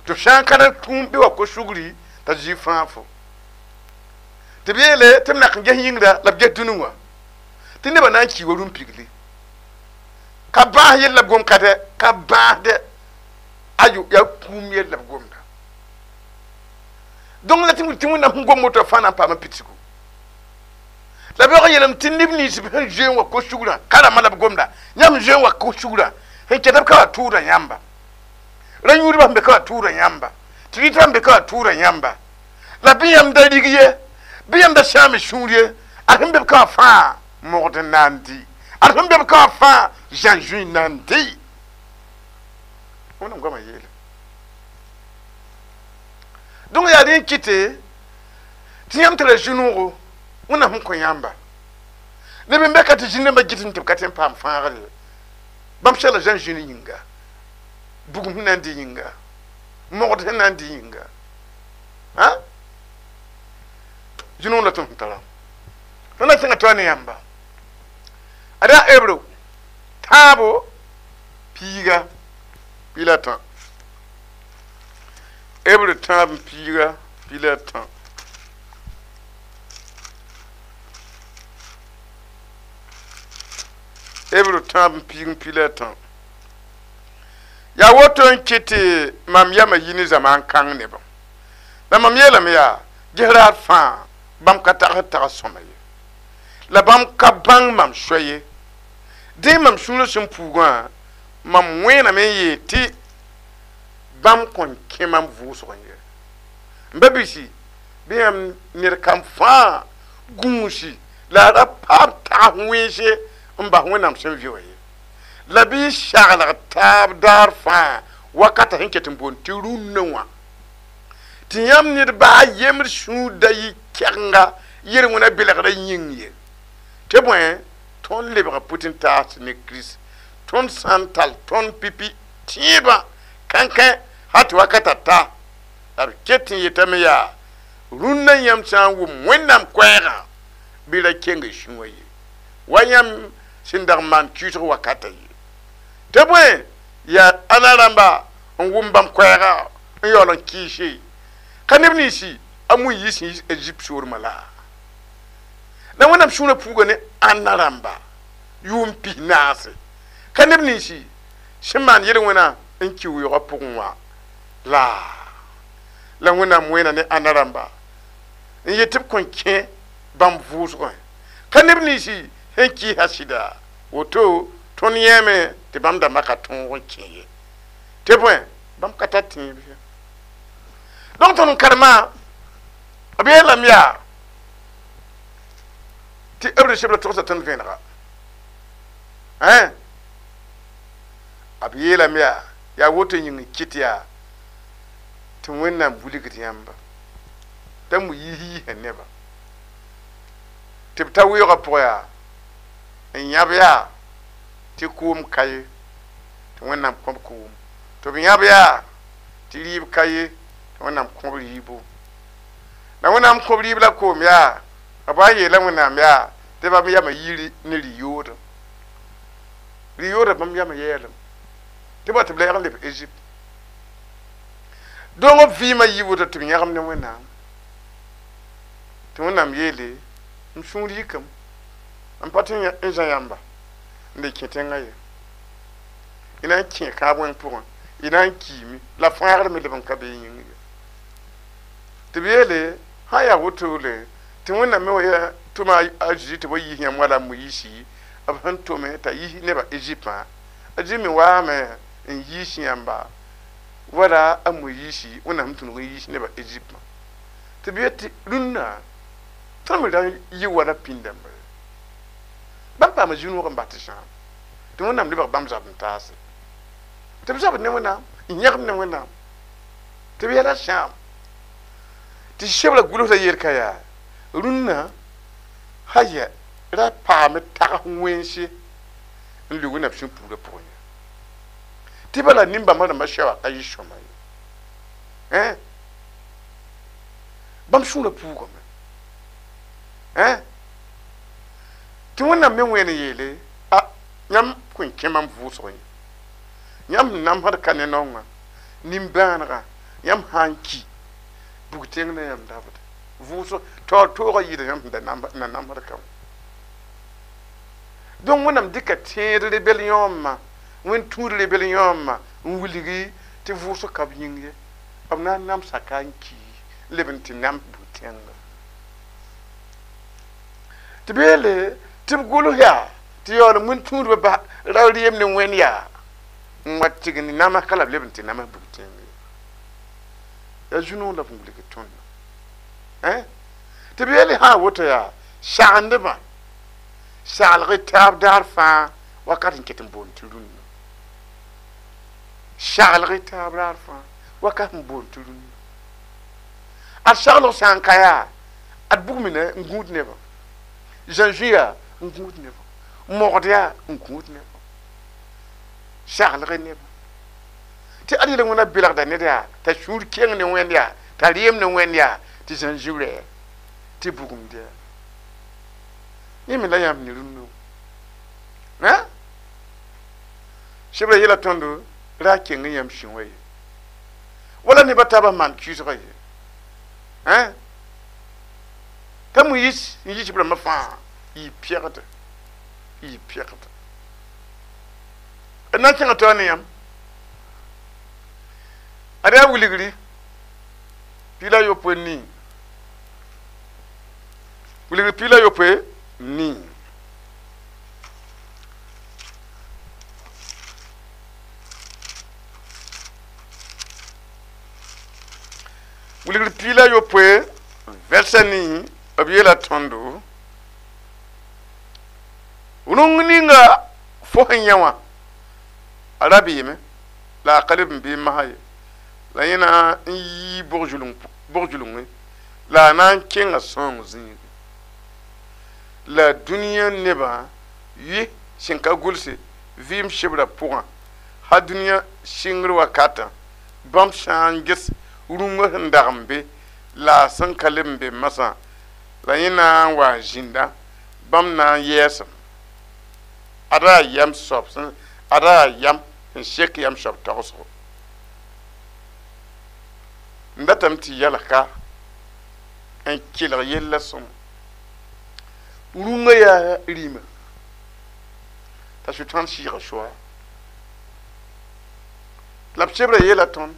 S1: tɩ f sã n ka ra tũum bɩ wa ko-sugri t'a Zezi fãa fo tɩ b yeele tɩ b nak n ges yĩngra la b ges dũni wã tɩ nebã na n kii wa rũm-pigli ka bãas yell la b gom ka dɛ ka bãas dɛ ayo yaa kũum yell la b gomda donc la tɩ wẽnnaam sẽn gom woto fãa na n paam pidsgu la b yaoog n yeelame tɩ neb nins sẽn zoe n wa ko-sugrã ka rãmbã la b gomda yãmb zoe n wa ko-sugrã sẽn ket b ka wa tʋʋda yãmba ra yũudbã sẽn be ka wa tʋʋda yãmba tɩ rɩtbã sẽn be ka wa tʋʋda yãmba la bɩ yãmb da rig ye bɩ yãmb da sãam sũur ye a sẽn be b ka wa fãa mogd n na n dɩ Ad sẽn be b ka fãa zãn zũi nan dɩ wẽnnaam goamã yeele donc yaa rẽ n kɩte tɩ yãmb tara zĩ-noogo wẽnnaam sẽn kõ yãmba neb n be ka tɩ zĩn-dãmbã gɩtẽ tɩ b ka tõe n paam fãagr ye bãmb segla zãn zũni yĩnga bugum sẽn na n dɩ yĩnga mogd sẽn na n dɩ yĩnga zĩ-noog la tõnd sẽn tara tõnd na sẽnga toa ne yãmba ad yaa hebreu tãabo piiga pila tã hebreu tãab n piiga pila tã hebreu tãab n piig n pila tã yaa woto n kɩt tɩ mam yama yi ne zamaan kãng nebã la mam yeelame yaa ges raad fãa bãmb ka tagsd tags sõma ye la bãmb ka bãng mam soa ye dẽ mam sũurã sẽn puugã mam wẽename n yeel tɩ bãmb kõn kẽ mam vʋʋsg n ye n ba bisi bɩ yãmb ned kam fãa gũusi la a ra paam tags wẽnse n bas wẽnnaam sẽn vɩ wã ye la bɩ saglg taab daar fãa wakata sẽn ket n boond tɩ rũnnã wã tɩ yãmb ned baa yembr sũur da yɩ kɛgenga yel-wẽna belgrã yĩng ye tɩ bõe tõnd lebga pʋtẽ-taas ne Kirist tõnd sã n tall tõnd pipi tẽebã kãnkẽ hal tɩ wakata ta la b ket n yetame yaa rũnnã yãmb sã n wʋm wẽnnaam koɛɛgã bɩ ra keng sũwã ye wa yãmb sẽn dag n maan kɩɩsg wakata ye tɩ bõe yaa ãna rãmba n wʋm bãmb koɛɛga n yaool n kɩɩse ka neb ninsi a Moyiis sẽn yis Ezipt soormã la la wẽnnaam sũurã puuga ne ãnna rãmba yʋʋm pis-naase ka neb ninsi sẽn maan yel-wẽna n ki weoogã pʋgẽ wã la wẽnnaam wẽena ne ãnna rãmba n yet tɩ b kõn kẽ bãmb vʋʋsgẽ ka neb ninsi sẽn kɩɩsa sɩda woto tõnd yẽeme tɩ bãmb dãmbã ka tõog n kẽ ye tɩ bõe bãmb ka tar tẽeb ye donc tõnd n karema b yeelame yaa tɩ b sebra togsa tõnd vẽenega b yeelame yaa yaa woto yĩng n kɩt yaa tɩ wẽnnaam wilgd yãmba t'a mu yiis yiisã nebã tɩ b ta weoogã pʋgã yaa n yãb yaa tɩ koom ka ye tɩ wẽnnaam kõb koom tɩ b yãb yaa tɩ rɩɩb ka ye tɩ wẽnnaam kõb rɩɩbo la wẽnnaam kõb rɩɩb la koom yaa b wa n yeela wẽnnaam yaa tɩ bãmb yama yiri ne rɩ-yoodã rɩ-yoodã bãmb yama yɛɛlem tɩ ba tɩ b lɛɛg n leb Ezipt donc b vɩɩmã yɩ woto tɩ b yãgem ne wẽnnaam tɩ wẽnnaam yeele m sũur yikame n pa tɩ n zã yãmba n le kẽ tẽngã ye y na n kẽ kãab wẽng pʋgẽ y na n kiime la fãagr me leb n ka be y yĩng ye tɩ b yeele sã n yaa wotole tɩ wẽnnaam me wa yaa tʋma a Zeezi tɩ b wa yiis yãmb wala a Moyiisi b sẽn tome t'a yiis nebã Eziptã a Zeezi me waame n yiis yãmba wala a Moyiisi wẽnnaam sẽn tũnug n yiis nebã Eziptã tɩ b yet tɩ rũnnã tõnd me ra yɩ wala pĩnd-dãmba ye bãmb paama zĩ-noog n bas tɩ sãam tɩ wẽnnaam lebg bãmb zab n taase tɩ b zabd ne wẽnnaam n yãgem ne wẽnnaam tɩ b yɛla sãam tɩ sebra gʋlsda yel ka yaa rũnnã haya ra paame tags wẽnse n lʋ wẽnnaam sẽn puurã pʋgẽ ye tɩ bala nin-bãmba rãmbã soaba ka yɩ sõma ye bãmb sũurã puugame tɩ wẽnnaam me wẽen n yeele a yãmb kõn kẽ mam vʋʋsg ye yãmb sẽn namsd ka ne naongã nimbãanegã yãmb sã n ki bug tẽng na yãmb dabde vʋʋsg taoor toogã yɩɩda yãmb sẽn na namsd ka wã donc wẽnnaam dɩka tẽed rebel yõomã wẽn tũud rebel yõomã n wilgi tɩ vʋʋsg ka b yĩng ye b na n namsa ka n ki n leb n tɩ nam bug tẽnga tɩ b yeele tɩ b gʋls yaa tɩ yaool wẽn tũudbã ba ra reem ne wẽnd yaa n wa tignd namas ka la b leb n tɩ namas bug tẽng ye yaa zu-noog la b wilg tõndã tɩ b yeele sã woto yaa sagendbã Saglg taab daar fãa wakat n ket n boond tɩ rũnnã. Saglg taab daar fãa wakat n boond tɩ rũnnã. Ad saglg sã n ka yaa ad bug mina n gũud nebã. Zãnzũ yaa n gũud nebã. Mogd yaa n gũud nebã. Saglg nebã. Tɩ ad yel wẽna belgda ned yaa t'a sũur keng ne wẽnd yaa t'a rɩɩm ne wẽnd yaa tɩ zãnzũ rɛɛ tɩ bugumd yaa. Yẽ me la yãmb ne rũnnã. Sebra yela tõndo ra keng yãmb sũ wã ye. Wala nebã taabã maan kɩɩsgã ye. T'a Moyiis n yi sib rãmbã fãa yɩ pɛgda yɩ pɛgda. D na n kẽngã taoor ne yãmb. Ad yaa wilgri 14. Wilgri 14. Wilgr 16 vɛrsa nii b yeela tõndo rũng ninga fo sẽn yã wã a ra beeme la a ka leb n bee masã ye la yẽ na n yii bog-zulungẽ la a na n kẽnga sõong zĩige la dũniyã nebã yɩ sẽn ka gʋlse vɩɩm sebrã pʋgã ha dũniyã sɩngr wakatã bãmb sã n ges rũngã sẽn dag n be la a sẽn ka leb n be masã la yẽ na n wa n zĩnda bãmb na n yɛɛsem ada yam soab ada yam sẽn sek yam soab tagsgo n datame tɩ yalka n kelg yella sõma rũngã yaa rĩmã t'a sʋtãan sɩɩga soa la b sebrã yeela tõnd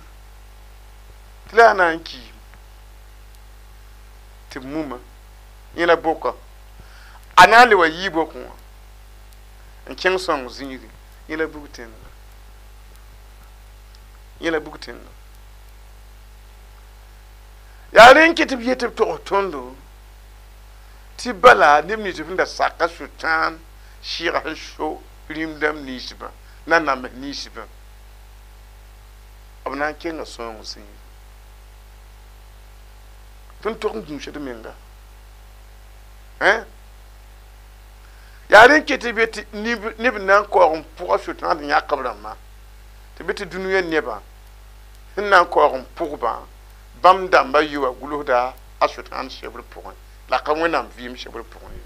S1: tɩ la yaa na n kiim tɩ b muma yẽ la boka a na n le wa yii bokẽ wã n kẽng sõng zĩigẽ yẽ la bug tẽnega yẽ la bug tẽnega yaa rẽ n ket b yet b togs tõndo tɩ bala neb nins sẽn da saka sʋtãan sɩɩga sẽn so rĩm-dãmb ninsbã na names ninsbã b na n kenga sõong zĩig tõnd tog n gũusd menga yaa rẽ n ket b yetɩ neb na n kaoog n pʋga sʋtãan sẽn yãk b rãmbã tɩ bɩ tɩ dũniyã nebã sẽn na n kaoog n pʋgbã bãmb dãmbã yɩ wa gʋlsda a sʋtãan sebr pʋgẽ la ka wẽnnaam vɩɩm sebr pʋgẽ ye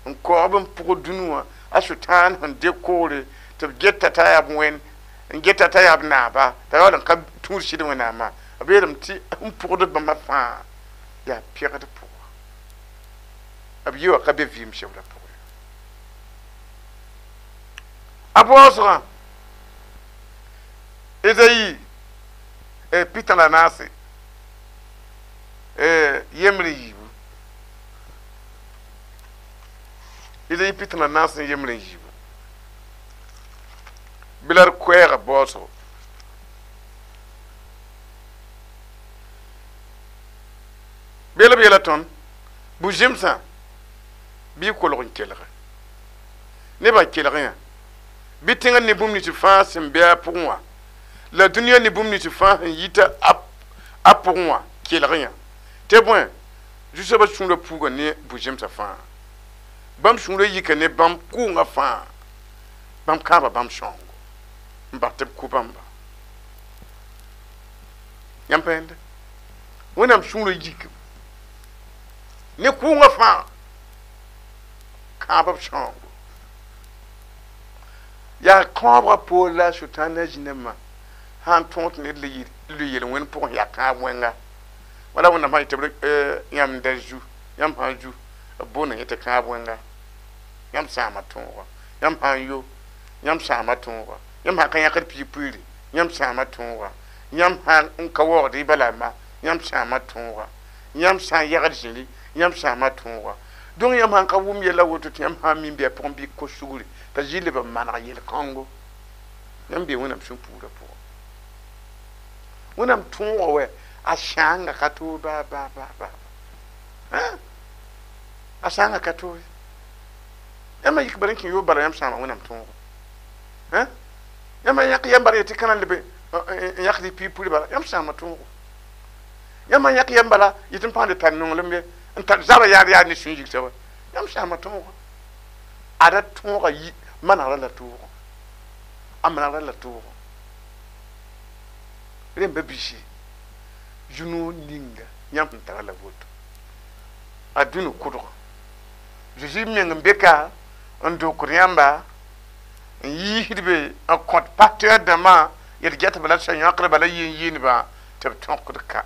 S1: n kaoog b n pʋg dũni wã a sʋtãan sẽn dɩk koore tɩ b geta t'a yaa b wẽnd n geta t'a yaa b naaba t'a yaool n ka tũud sɩd wẽnnaamã b yeelame tɩ n pʋgd bãmba fãa yaa pɛgd pʋga b yɩ wa ka be vɩɩm sebrã pʋgẽ a baoosgã Ezayi 44 yembre yiibu Ezayi 44 yembre yiibu bɩ la d koɛɛgã baoosgo beel b yeela tõnd bu-zẽmsã bɩ y kolg n kelge nebã kelg yã bɩ tẽngã ne bũmb nins fãa sẽn be a pʋgẽ wã la dũniyã ne bũmb nins fãa sẽn yita a pʋgẽ wã kelg yã tɩ bõe zu-soabã sũurã puuga ne bu-zẽmsã fãa bãmb sũurã yika ne bãmb kʋʋngã fãa bãmb kãaba bãmb sõngo n bas tɩ b kʋ bãmba yãmb pa yẽnda wẽnnaam sũurã yik ne kʋʋngã fãa kãab b sõngo yaa kãobgã poor la a sʋtãan na zĩnamã sã n tõog tɩ ned le yel-wẽnd pʋgẽ yaa kãab wẽnga wala wẽnnaam sã yetɩ b yãmb da zu yãmb sã n zu b boonda yẽ tɩ kãab wẽnga yãmb sãama tõoga yãmb sã n yo yãmb sãama tõoga yãmb sã n ka yãkd piig puiiri yãmb sãama tõoga yãmb sã n ka waoogd y balamba yãmb sãama tõoga yãmb sã n yagd zĩri yãmb sãama tõoga donc yãmb sã n ka wʋm yɛla woto tɩ yãmb sã n min bɩ a pʋgẽ bɩ kos sugri t'a zɩ leb n maneg yel-kãngo yãmb bee wẽnnaam sũ-puurã pʋgẽ wẽnnaam tõoga wɛ a sãanga ka toor baa baa baa baa A sãanga ka toore yãmb yik bara n kẽ yoob bala yãmb sãama wẽnnaam tõogo yãmb yãk yam bala yetɩ kãna leb n yãkd y piig bala yãmb sãama tõogo yãmb yãk yam bala yetɩ n pãgd tar nonglem ye n tar zabra yaad yaad ne sũ-yig soaba yãmb sãama tõogo ada tõoga yi manegrã la toogo a manegrã la toogo rẽmba biisi zu-noog ninga yãmb sẽn tara la woto a dũni kʋdga Zeezi meng n be ka n dokd yãmba n yiisdbe n kõt pasteur dãmbã yet gɛtba la sã-yãkdba la yeen-yeenba tɩ b tõkd ka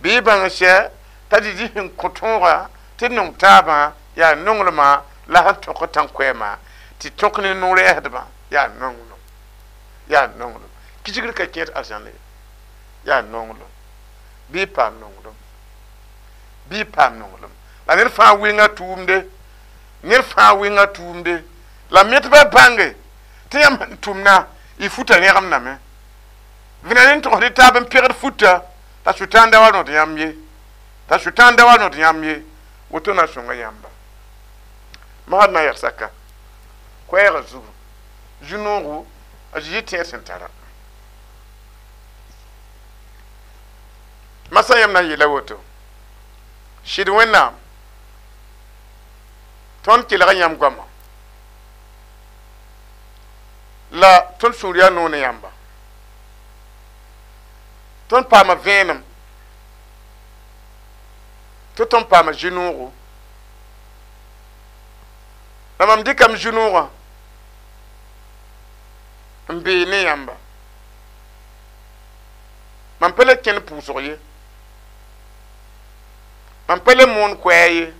S1: bɩ y bãng sɛ t'a Zeezi sẽn kõ tõoga tɩ nong taabã yaa nonglmã la sẽn tõk tãn-koɛɛmã tɩ tõk ne no-rɛɛsdbã yaa nonglem yaa nonglem kisgr ka kẽed arzãn ye yaa nonglem bɩ y paam nonglem bɩ y paam nonglem la ned fãa wɩnga tʋʋmde ned fãa wɩnga tʋʋmde la metbã bãnge tɩ yãmb sẽn tʋmna y futa rẽgemdame vẽna ne n togsd y taab n pegd futa t'a sʋtãan da wa rõd yãmb ye t'a sʋtãan da wa rõd yãmb ye woto na sõnga yãmba masd na yagsaka koɛɛgã zugu zu-noogo a Zezi tẽed sẽn tara masã yãmb na n yeela woto sɩd Wẽnnaam tõnd kelga yãmb goama la tõnd sũur yaa noog ne yãmba tõnd paama vẽenem tɩ tõnd paama zu-noogo la mam dɩkame zu-noogã n bee ne yãmba mam pa le kẽnd pʋʋsg ye mam pa le moon koɛɛ ye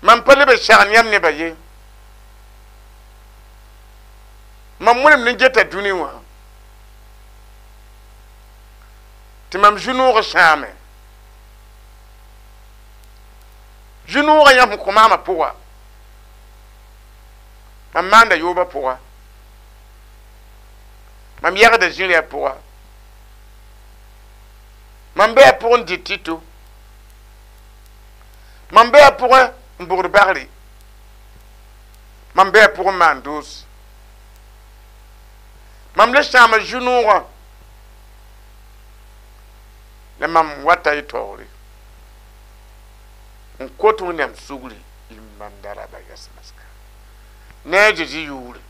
S1: mam pa leb n sagn yãmb nebã ye mam wẽnem ne geta dũni wã tɩ mam zu-noogã sãame zu-noogã yãmb sẽn kõ maamã pʋga mam maanda yoobã pʋga mam yɛgda zĩrã pʋga mam bɩ a pʋgẽ n dɩt tɩto mam bɩ a pʋgẽ n bʋgd bagre mam bɩ a pʋgẽ n maan doos mam le sãama zu-noogã la mam wata y taoore n kot Wẽnnaam sugri y mandaraba yas-maska ne a Zezi yʋʋre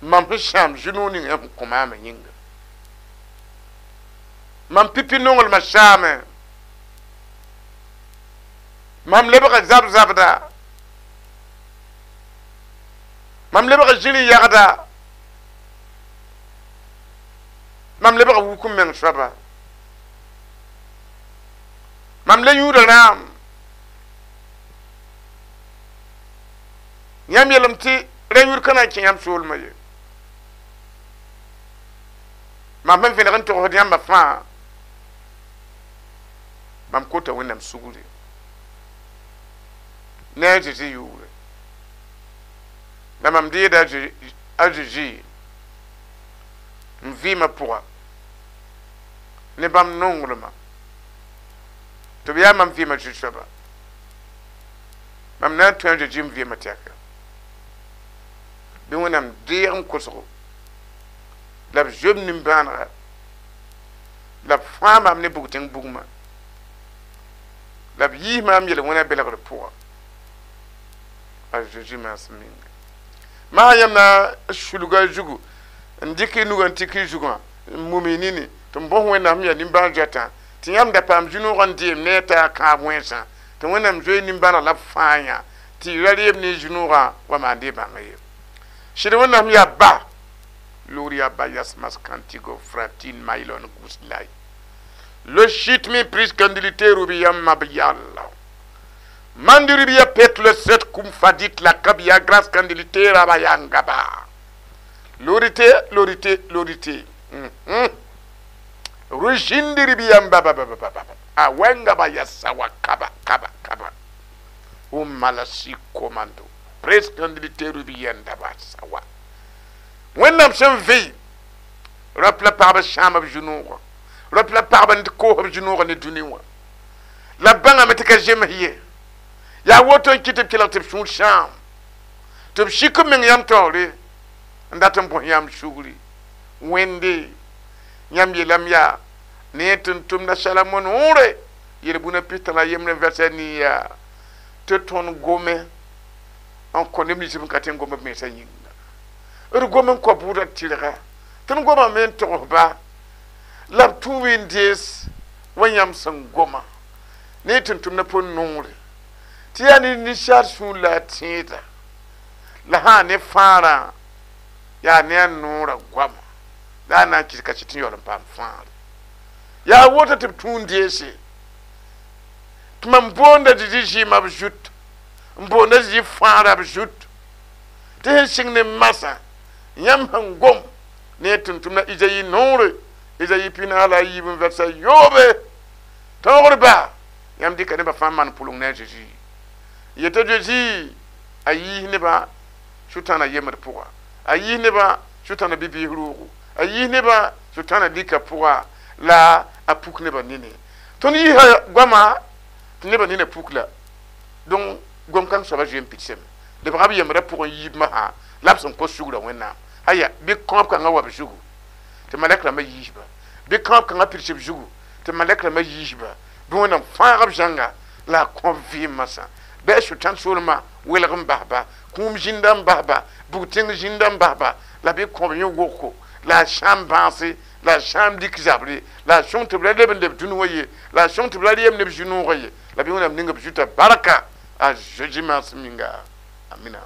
S1: mam sẽn sãam zu-noog ning yãmb sẽn kõ maamã yĩnga mam pipi nonglmã saame mam lebga zab-zabda mam lebga zĩri yagda mam lebga wuk n meng soaba mam le yũuda rãam yãmb yeelame tɩ ra yũud ka na n kẽ yãmb soolmã ye mam sẽn vẽneg n togsd yãmba fãa mam kota Wẽnnaam sugri ne a Zezi yʋʋre la mam deeda a Zezi n vɩɩmã pʋga ne bãmb nonglmã tɩ b yaa mam vɩɩmã zu-soaba mam na n tõe a Zezi n vɩɩmã tɛka bɩ Wẽnnaam deeg n kosgo la b zoem nimbãanega la b fãa maam ne bug-tẽng bugmã la b yiis maam yel-wẽna belgr pʋga a Zezi maasem ninga maa yãmb na sulga zugu n dɩk y nugã n tik y zugã n mum y nini tɩ n bõs Wẽnnaam sẽn yaa nimbãan-zoatã tɩ yãmb da paam zu-noogã n deem ne a taa kãab wẽnsã tɩ Wẽnnaam zoe nimbãaneg la b fãa yã tɩ y ra reem ne y zu-noogã wa maan dee bãnga ye sɩd Wẽnnaam yaa ba Loria bayas maskantigo fratin mailon guslai. Le chitmi priskandilite rubia mabiala. Manduribia petle set kum fadit la kabia grâce candilité rabayangaba. Lorité, lorité, lorité. Rushindiribiya baba baba baba. Awenga bayasawa kaba kaba kaba. Umalasi komando. Priskandilite rubia ndabasawa. Wẽnnaam sẽn vɩ rap la pagba sãama b zu-noogã Rap la pagba n koos b zũ-noogã ne dũni wã la b bãngame tɩ ka zems ye yaa woto n kɩt tɩ b kelg tɩ b sũur sãam tɩ b sik b meng yãmb taoore n dat n bõs yãmb sugri wẽnde yãmb yeelame yaa ne tɩ n tʋmda salamo noore yel-bũna pistã la yembre n vɛrsa nii yaa tɩ tõnd gome n kõ neb nins b ka tɩ n gom b mensã yĩnga d gom n kõ bʋʋda tɩrga tõnd gomame n togsba la b tũu n dees wa yãmb sẽn goma ne tɩ n tʋmda pʋn noore tɩ yaa ne ninsaal sũur la a tẽeda la sã ne fãarã yaa ne a noorã goama la a na n kɩs ka sɩt n yaool n paam fãagre yaa woto tɩ b tũu n deese tɩ mam boonda Zezi zɩɩmã b zut n boonda Zezi fãagrã b zut tɩ sẽn sɩng ne masã yãmb sẽn gom ne tʋm-tʋmda Izayi noore Izayi 43 n vɛrsa yoobe tõogr ba yãmb dɩka nebã fãa maan pʋleng ne a Zezi yeta Zezi a yiis nebã sʋtãana yembd pʋga a yiis nebã sʋtãana bi-biis roogo a yiis nebã sʋtãana lika pʋga la a puk nebã nini tõnd yiisa goama tɩ nebã nina puk la donc gom kãng soaba zoe n pidsame lebga b yembrã pʋgẽ yiib masã la b sẽn kos sugrã wẽnnaam aya bɩ kõob kãngã wa b zugu tɩ malɛk rãmbã yiisba bɩ kõob kãngã pids b zugu tɩ malɛk rãmbã yiisba bɩ wẽnnaam fãag b zãnga la a kõob vɩɩm masã bɩ a sʋtãn soolmã welg n basba kũum zĩnda n basba bug tẽng zĩnda n basba la bɩ kõob yẽ woko la a sãam bãase la a sãam lik zabre la a sõng tɩ b ra leb n leb dũni wã ye la a sõng tɩ b ra reem neb zu-noogã ye la bɩ wẽnnaam ning b zuta barka a Zezi maasem yĩnga amina.